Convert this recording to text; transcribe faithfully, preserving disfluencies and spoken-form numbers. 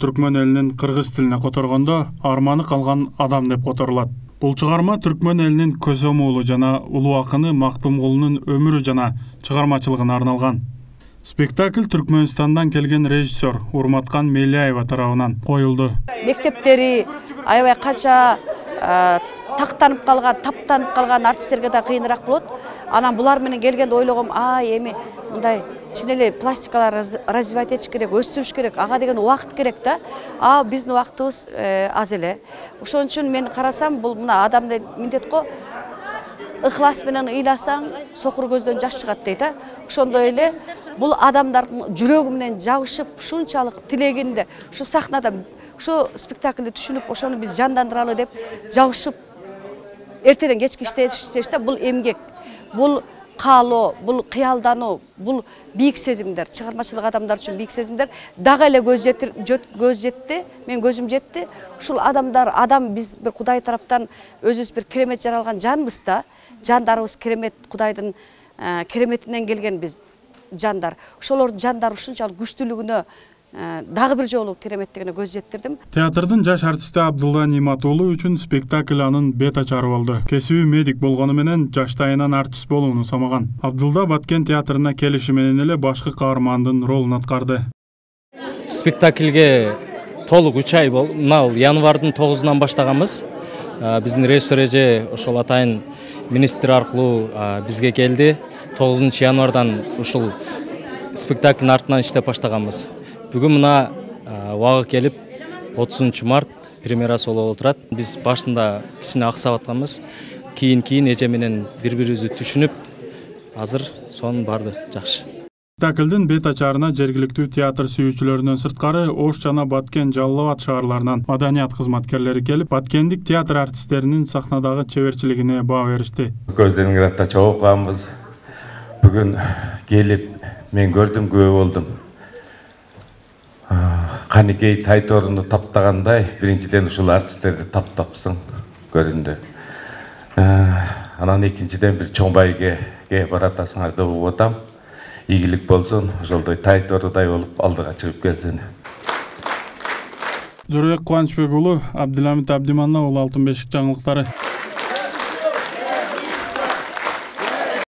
түркмөн элинин кыргыз тилине которгондо арманы калган адам деп которулат. Бул чыгарма түркмөн элинин көсөм уулу жана улуу акыны Мактумгулунун өмүрү жана чыгармачылыгына арналган. Спектакль Түркмөнстандан келген режиссер Урматкан Мелияева тарабынан коюлду. Мектептери аябай канча тактанып калган, таптанып калган артисттерге да кыйыныраак болот. Анан булар менен келгенде ойлогом, а эми мындай чын эле пластикалар развивать этиш керек, өстүрүш керек, ага деген убакыт керек да. А биздин убактыбыз аз эле. Ошон үчүн мен карасам, бул мына адамды миндет го, ыхлас менен ыйласаң, сокур көздөн жаш чыгат дейт а. Ошондой эле бул адамдардын жүрөгү менен жабышып, ушунчалык тилегинде, ушу сахнада, ушу спектакльди түшүнүп, ошону биз жандандыралы деп жабышып эртеден кечке иштешти да. Бул эмгек, бул каалоо, бул кыялдануу, бул бийик сезимдер, чыгармачылык адамдар үчүн бийик сезимдер. Дагы эле көз көз жетти, мен көзүм жетти. Ушул адамдар, адам биз бир Кудай тараптан өзүбүз бир керемет жаралган жанбыз да. Жандарыбыз керемет, Кудайдын кереметинен келген биз жандар. Ошолор жандар ушунчалык күчтүүлүгүнө дагы бир жолу кереметтигине көз жеттирдим. Театрдын жаш артисти Абдулла Ниматулу үчүн спектакль анын бет ачары болду. Кесиби медик болгону менен жаштайынан артист болууну самаган. Абдулла Баткен театрына келиши менен эле башкы каармандын ролун аткарды. Спектакльге толук үч ай бол, мына январдын тогузунан баштаганбыз. Биздин режиссер эже ошол атайын министр аркылуу бизге келди. тогузунчу январдан ушул спектаклдин артынан иштеп баштаганбыз. Бүгүн мына убагы келип отузунчу март премьерасы болуп отурат. Биз башында кичине аксап атканбыз. Кийин кийин эже менен бири-бирибизди түшүнүп, азыр сонун барды жакшы. Спектаклдин бет ачарына жергиликтүү театр сүйүүчүлөрүнөн сырткары Ош жана Баткен, Жалал Абад шаарларынан маданият кызматкерлери келип, баткендик театр артисттеринин сахнадагы чеберчилигине баа беришти. Көздөрүңөр атта чогуу калганбыз. Бүгүн келип мен көрдүм, күбө болдум. Каникей Тайторуну таптагандай, биринчиден ушул артисттерди таптапсың көрүндү. Анан экинчиден бир чоң байгеге баратасыңар деп угуп атам. Ийгилик болсун, ошолдой Тайторудай болуп алдыга чыгып келсин. Жорбек Кубанычбек уулу, Абдыламит Абдиманна уулу, Алтын бешик жаңылыктары.